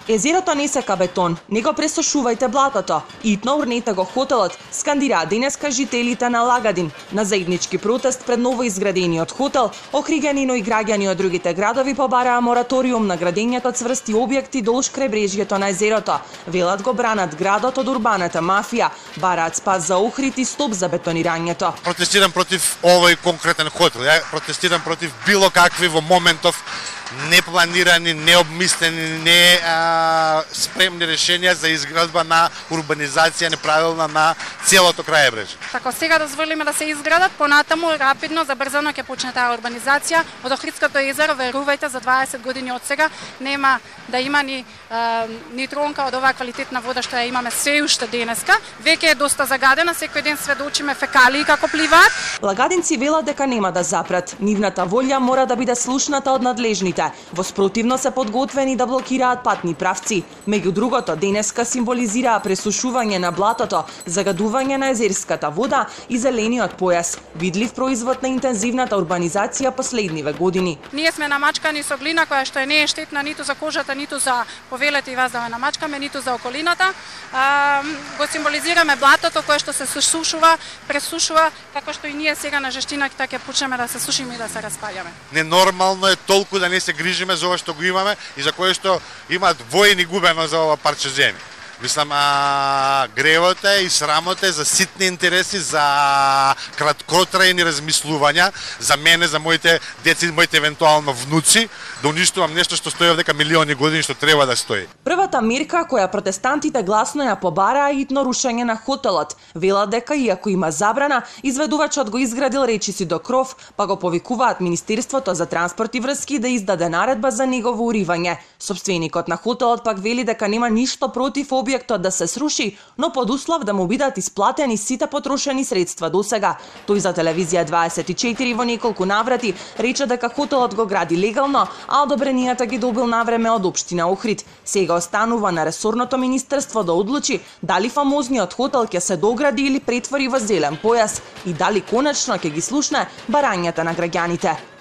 Езерото не сека бетон, не го пресушувајте блатото. Итно урнете го хотелот, скандираа денеска жителите на Лагадин. На заеднички протест пред новоизградениот хотел, охриѓани и граѓани од другите градови побараа мораториум на градењето цврсти објекти долж крајбрежјето на езерото. Велат го бранат градот од урбаната мафија, бараат спас за Охрид и стоп за бетонирањето. Протестирам против овој конкретен хотел. Ја протестирам против било какви во моментов непланирани, необмислени, не спремни решенија за изградба на урбанизација неправилна на целото крајбрежје. Така сега дозволиме да се изградат, понатаму рапидно, забрзано ќе почне таа урбанизација. Од Охридското езеро, верувајте, за 20 години од сега нема да има ни тронка од оваа квалитетна вода што ја имаме се уште денеска. Веќе е доста загадена, секој ден сведочиме фекалии како пливаат. Лагадинци велат дека нема да запрат. Нивната волја мора да биде слушната од надлежните. Во спротивно се подготвени да блокираат патни правци. Меѓу другото, денеска символизираа пресушување на блатото, загадување на езерската вода и зелениот појас, видлив производ на интензивната урбанизација последниве години. Ние сме намачкани со глина која што не е штетна ниту за кожата, ниту за повелете и вас да намачкаме, ниту за околината. Го символизираме блатото кое што се сушува, пресушува, како што и ние сега на жештината ќе почнеме да се сушиме и да се распаѓаме. Ненормално е толку да не се грижиме за ова што го имаме и за кое што имаат војни губено за ова парче земја. Мислам, гревот е и срамот е за ситни интереси, за краткотрајни размислувања, за мене, за моите деца и моите евентуално внуци, да уништувам нешто што стои овдека милиони години што треба да стои. Првата мерка која протестантите гласно ја побараа е итно рушење на хотелот. Велат дека иако има забрана, изведувачот го изградил речиси до кров, па го повикуваат Министерството за транспорт и врски да издаде наредба за негово уривање. Собственикот на хотелот пак вели дека нема ништо против објектот да се сруши, но под услов да му бидат исплатени сите потрошени средства досега. Тој за телевизија 24 во неколку наврати рече дека хотелот го гради легално, а одобренијата ги добил навреме од општина Охрид. Сега останува на ресорното министерство да одлучи дали фамозниот хотел ќе се догради или претвори во зелен појас и дали конечно ќе ги слушне барањата на граѓаните.